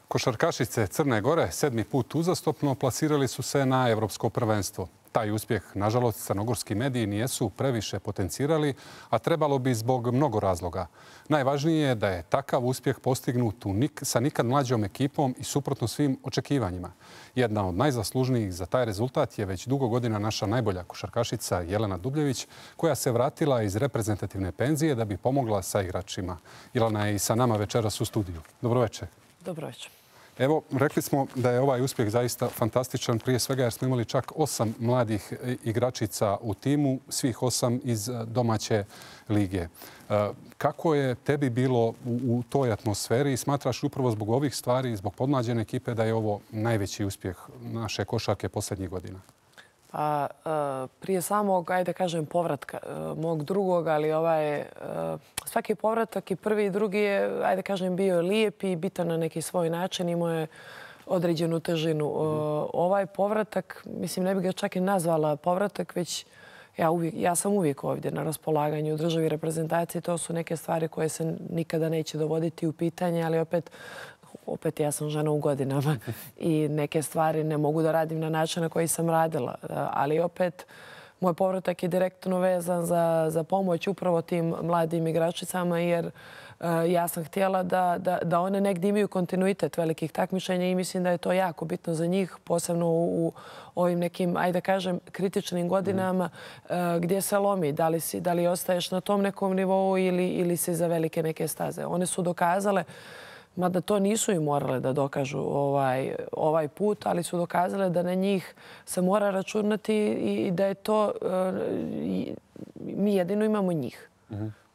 Košarkašice Crne Gore 7. put uzastopno plasirali su se na Evropsko prvenstvo. Taj uspjeh, nažalost, crnogorski mediji nijesu previše potencirali, a trebalo bi zbog mnogo razloga. Najvažnije je da je takav uspjeh postignut sa nikad mlađom ekipom i suprotno svim očekivanjima. Jedna od najzaslužnijih za taj rezultat je već dugo godina naša najbolja košarkašica Jelena Dubljević, koja se vratila iz reprezentativne penzije da bi pomogla sa igračima. Jelena je i sa nama večeras u studiju. Dobro večer. Dobro večer. Evo, rekli smo da je ovaj uspjeh zaista fantastičan, prije svega jer smo imali čak 8 mladih igračica u timu, svih 8 iz domaće lige. Kako je tebi bilo u toj atmosferi i smatraš upravo zbog ovih stvari, zbog podmlađene ekipe, da je ovo najveći uspjeh naše košarke posljednjih godina? Pa, prije samog, ajde kažem, povratka mog drugog, ali svaki povratak i prvi i drugi je, ajde kažem, bio lijep i bitan na neki svoj način. Imao je određenu težinu. Ovaj povratak, mislim, ne bih ga čak i nazvala povratak, već ja sam uvijek ovdje na raspolaganju u državi reprezentacije. To su neke stvari koje se nikada neće dovoditi u pitanje, ali opet ja sam žena u godinama i neke stvari ne mogu da radim na način na koji sam radila. Ali opet, moj povratak je direktno vezan za pomoć upravo tim mladim igračicama, jer ja sam htjela da one negdje imaju kontinuitet velikih takmičenja i mislim da je to jako bitno za njih, posebno u ovim nekim, ajde kažem, kritičnim godinama gdje se lomi. Da li ostaješ na tom nekom nivou ili si za velike neke staze. One su dokazale, mada to nisu i morale da dokažu ovaj put, ali su dokazale da na njih se mora računati i da je to, mi jedino imamo njih.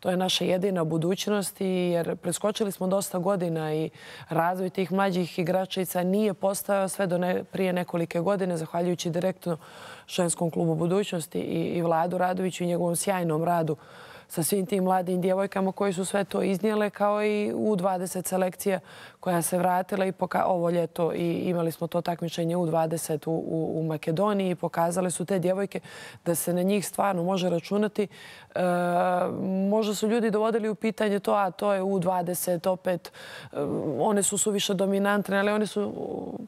To je naša jedina budućnost, jer preskočili smo dosta godina i razvoj tih mlađih igračica nije postojao sve do prije nekolike godine, zahvaljujući direktno ženskom klubu budućnosti i Vladu Radoviću i njegovom sjajnom radu sa svim tim mladim djevojkama koji su sve to iznijele, kao i U20 selekcija koja se vratila i ovo ljeto i imali smo to takmičenje U20 u Makedoniji i pokazale su te djevojke da se na njih stvarno može računati. Možda su ljudi dovodili u pitanje to je U20, opet one su suviše dominantne, ali one su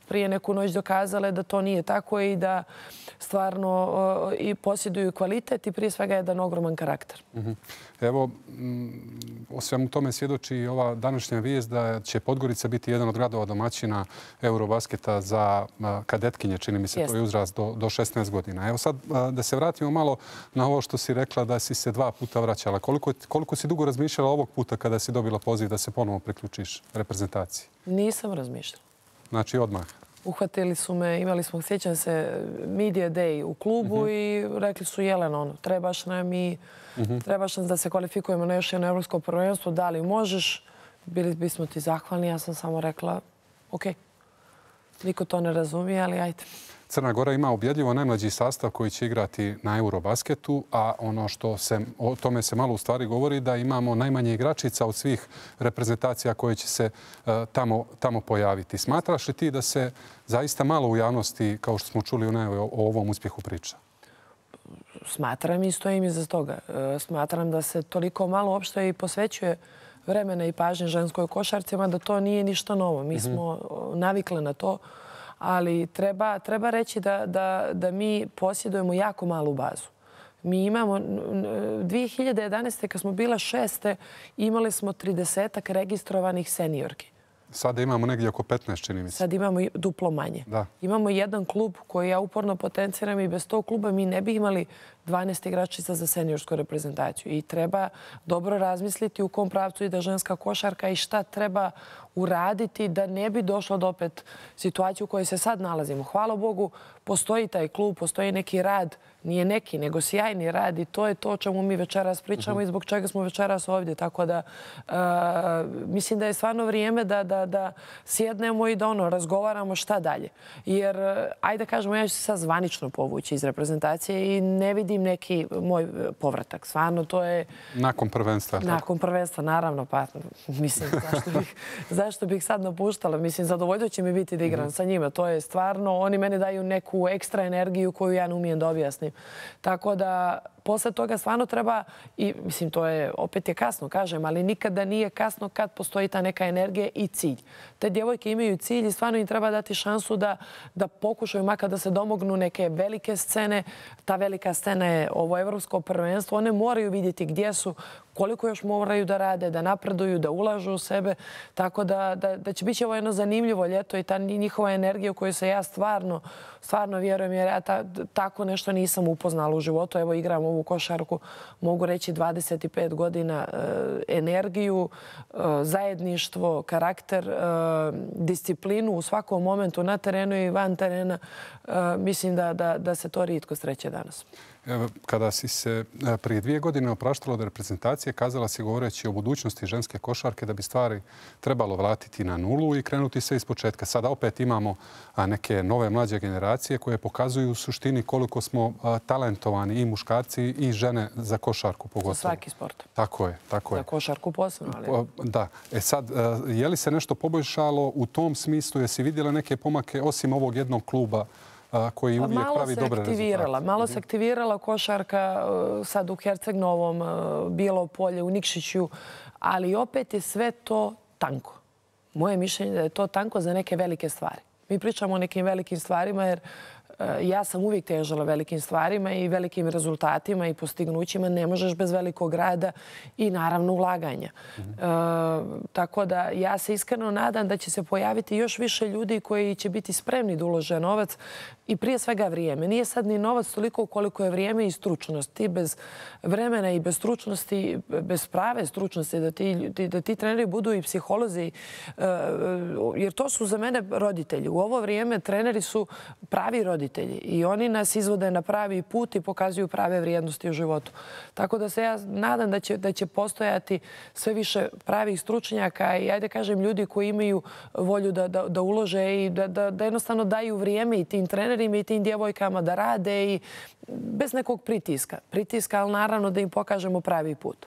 prije neku noć dokazale da to nije tako i da stvarno i posjeduju kvalitet i prije svega jedan ogroman karakter. Evo, o svemu tome svjedoči i ova današnja vijest da će Podgorica biti jedan od gradova domaćina Eurobasketa za kadetkinje, čini mi se, to je uzrast do 16 godina. Evo sad da se vratimo malo na ovo što si rekla da si se 2 puta vraćala. Koliko si dugo razmišljala ovog puta kada si dobila poziv da se ponovo priključiš reprezentaciji? Nisam razmišljala. Znači odmah? Uhvatili su me, imali smo, sjećam se, Media Day u klubu i rekli su Jelena, trebaš nam da se kvalifikujemo na još jedno evropsko prvenstvo, da li možeš, bili bismo ti zahvalni. Ja sam samo rekla, ok, niko to ne razumije, ali ajde. Crna Gora ima ubjedljivo najmlađi sastav koji će igrati na Eurobasketu, a ono što o tome se malo u stvari govori da imamo najmanje igračica od svih reprezentacija koje će se tamo pojaviti. Smatraš li ti da se zaista malo u javnosti, kao što smo čuli o ovom uspjehu priča? Smatram i stojim iza toga. Smatram da se toliko malo uopšte i posvećuje vremena i pažnje ženskoj košarcima da to nije ništa novo. Mi smo navikli na to. Ali treba reći da mi posjedujemo jako malu bazu. Mi imamo 2011. kad smo bila 6. imali smo 30-ak registrovanih seniorki. Sada imamo negdje oko 15, čini mi se. Sad imamo duplo manje. Imamo jedan klub koji ja uporno potenciram i bez tog kluba mi ne bi imali 12 igračica za seniorsku reprezentaciju. I treba dobro razmisliti u kom pravcu ide ženska košarka i šta treba uraditi da ne bi došlo do opet situaciju u kojoj se sad nalazimo. Hvala Bogu, postoji taj klub, postoji neki rad, nije neki, nego sjajni rad i to je to o čemu mi večeras pričamo i zbog čega smo večeras ovdje. Tako da mislim da je stvarno vrijeme da sjednemo i da razgovaramo šta dalje. Jer, ajde kažemo, ja ću se sad zvanično povući iz reprezentacije i ne vidim neki moj povratak. Stvarno, to je... Nakon prvenstva. Nakon prvenstva, naravno. Pa, mislim, zašto bih sad napuštala? Mislim, zadovoljstvo će mi biti da igram sa njima. To je stvarno, oni meni daju neku ekstra energiju koju ja ne umijem da objasnim. Tako da posle toga stvarno treba, i mislim to je, opet je kasno kažem, ali nikada nije kasno kad postoji ta neka energija i cilj. Te djevojke imaju cilj i stvarno im treba dati šansu da pokušaju makar da se domognu neke velike scene. Ta velika scena je ovo evropsko prvenstvo. One moraju vidjeti gdje su, koliko još moraju da rade, da napreduju, da ulažu u sebe. Tako da će biti ovo jedno zanimljivo ljeto i ta njihova energija u kojoj se ja stvarno vjerujem, jer ja tako nešto nisam upoznala u životu. Evo, igram ovu košarku, mogu reći 25 godina, energiju, zajedništvo, karakter, disciplinu u svakom momentu na terenu i van terena. Mislim da se to rijetko sreće danas. Kada si se prije 2 godine opraštala od reprezentacije, kazala si govoreći o budućnosti ženske košarke da bi stvari trebalo vratiti na nulu i krenuti se ispočetka. Sada opet imamo neke nove mlađe generacije koje pokazuju u suštini koliko smo talentovani i muškarci i žene za košarku pogotovo. Za svaki sport. Tako je. Za košarku posebno. Da. Sad, je li se nešto poboljšalo u tom smislu? Jesi vidjela neke pomake osim ovog jednog kluba koji uvijek pravi dobre rezultate? Malo se aktivirala košarka sad u Herceg-Novom, Bijelo Polje, u Nikšiću, ali opet je sve to tanko. Moje mišljenje je da je to tanko za neke velike stvari. Mi pričamo o nekim velikim stvarima jer ja sam uvijek težila velikim stvarima i velikim rezultatima i postignućima. Ne možeš bez velikog rada i naravno ulaganja. Tako da ja se iskreno nadam da će se pojaviti još više ljudi koji će biti spremni da ulože novac i prije svega vrijeme. Nije sad ni novac toliko koliko je vrijeme i stručnost. Ti bez vremena i bez stručnosti, bez prave stručnosti, da ti treneri budu i psiholozi, jer to su za mene roditelji. U ovo vrijeme treneri su pravi roditelji i oni nas izvode na pravi put i pokazuju prave vrijednosti u životu. Tako da se ja nadam da će postojati sve više pravih stručnjaka i, ajde kažem, ljudi koji imaju volju da ulože i da jednostavno daju vrijeme i tim trenerima i tim djevojkama da rade i bez nekog pritiska, ali naravno da im pokažemo pravi put.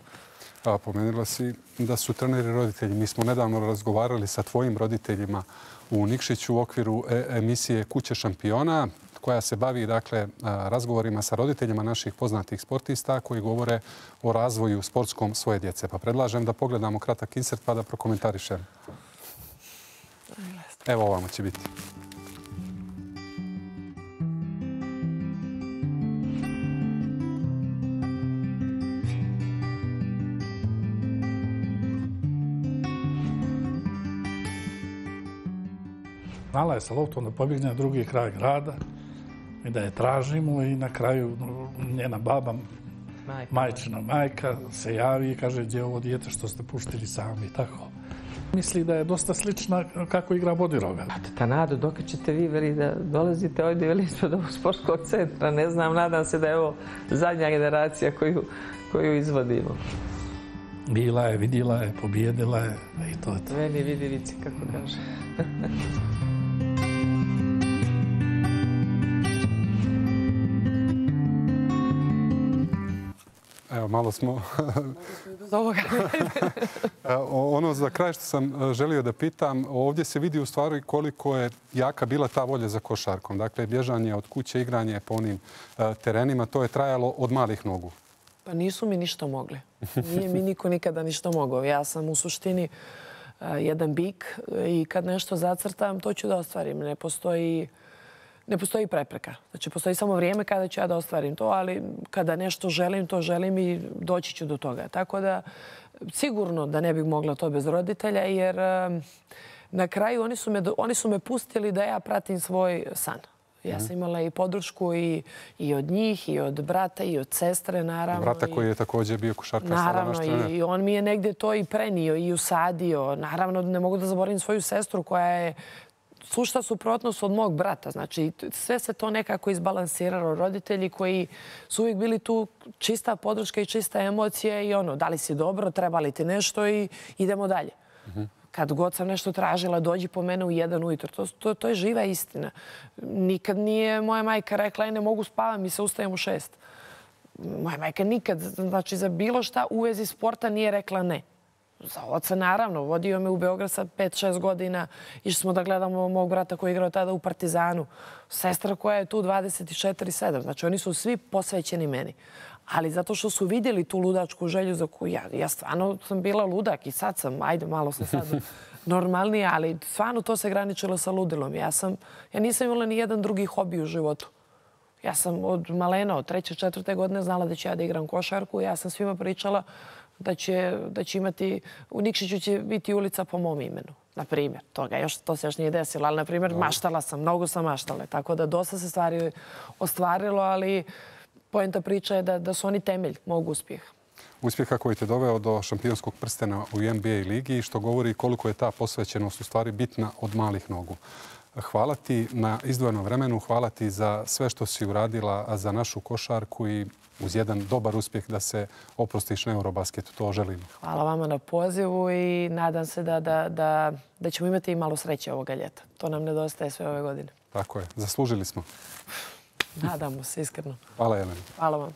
Pomenula si da su treneri roditelji. Mi smo nedavno razgovarali sa tvojim roditeljima u Nikšiću u okviru emisije Kuće šampiona, koja se bavi razgovorima sa roditeljima naših poznatih sportista koji govore o razvoju sportskom svoje djece. Pa predlažem da pogledamo kratak insert pa da prokomentarišem. Evo ovamo će biti. Znala je sa loptom da pobjegne na drugi kraj grada i da je tražimo i na kraju njena baba, majčina majka, se javi i kaže gdje je ovo dijete što ste puštili sami i tako. Misli da je dosta slična kako igra Bodiroga. Ta nada, dok ćete vi veli da dolazite ovdje veli ispred ovog sportskog centra, ne znam, nadam se da je ovo zadnja generacija koju izvodimo. Bila je, vidjela je, pobjedila je i to je to. Meni vidi vici, kako kaže. Evo, malo smo... Ono za kraj što sam želio da pitam, ovdje se vidi u stvari koliko je jaka bila ta volja za košarkom. Dakle, bježanje od kuće, igranje po onim terenima, to je trajalo od malih nogu. Pa nisu mi ništa mogli. Nije mi niko nikada ništa mogao. Ja sam u suštini jedan bik i kad nešto zacrtam, to ću da ostvarim. Ne postoji prepreka. Znači, postoji samo vrijeme kada ću ja da ostvarim to, ali kada nešto želim, to želim i doći ću do toga. Tako da, sigurno da ne bih mogla to bez roditelja, jer na kraju oni su me pustili da ja pratim svoj san. Ja sam imala i podršku i od njih, i od brata, i od sestre, naravno. Brata koji je također bio košarkaš. Naravno, i on mi je negdje to i prenio i usadio. Naravno, ne mogu da zaboravim svoju sestru koja je sušta suprotnost od mog brata. Znači, sve se to nekako izbalansiralo. Roditelji koji su uvijek bili tu, čista podrška i čista emocija i ono, da li si dobro, treba li ti nešto i idemo dalje. Kad god sam nešto tražila, dođi po mene u 1 ujutro. To je živa istina. Nikad nije moja majka rekla, ne mogu spavam, mi se ustajem u 6. Moja majka nikad, znači za bilo šta u vezi sporta nije rekla ne. Za oca, naravno, vodio me u Beograd sa 5-6 godina. Išli smo da gledamo mog brata koji je igrao tada u Partizanu. Sestra koja je tu 24/7. Znači, oni su svi posvećeni meni. Ali zato što su vidjeli tu ludačku želju za koju ja stvarno sam bila ludak i sad sam, ajde malo sam sad normalnija, ali stvarno to se graničilo sa ludilom. Ja nisam imala ni jedan drugi hobi u životu. Ja sam od malena, od 3. 4. godine znala da ću ja da igram košarku. Ja sam svima pričala da će imati, u Nikšiću će biti ulica po mom imenu. Na primjer, to se još nije desilo, ali na primjer maštala sam, mnogo sam maštala. Tako da dosta se stvari ostvarilo, ali poenta priča je da su oni temelj mog uspjeha. Uspjeha koji te doveo do šampionskog prstena u NBA ligi, što govori koliko je ta posvećenost u stvari bitna od malih nogu. Hvala ti na izdvojenom vremenu, hvala ti za sve što si uradila za našu košarku i uz jedan dobar uspjeh da se oprostiš na Eurobasketu. To želim. Hvala vama na pozivu i nadam se da ćemo imati i malo sreće ovoga ljeta. To nam nedostaje sve ove godine. Tako je. Zaslužili smo. Nadamo se, iskreno. Hvala, Jelena. Hvala vam.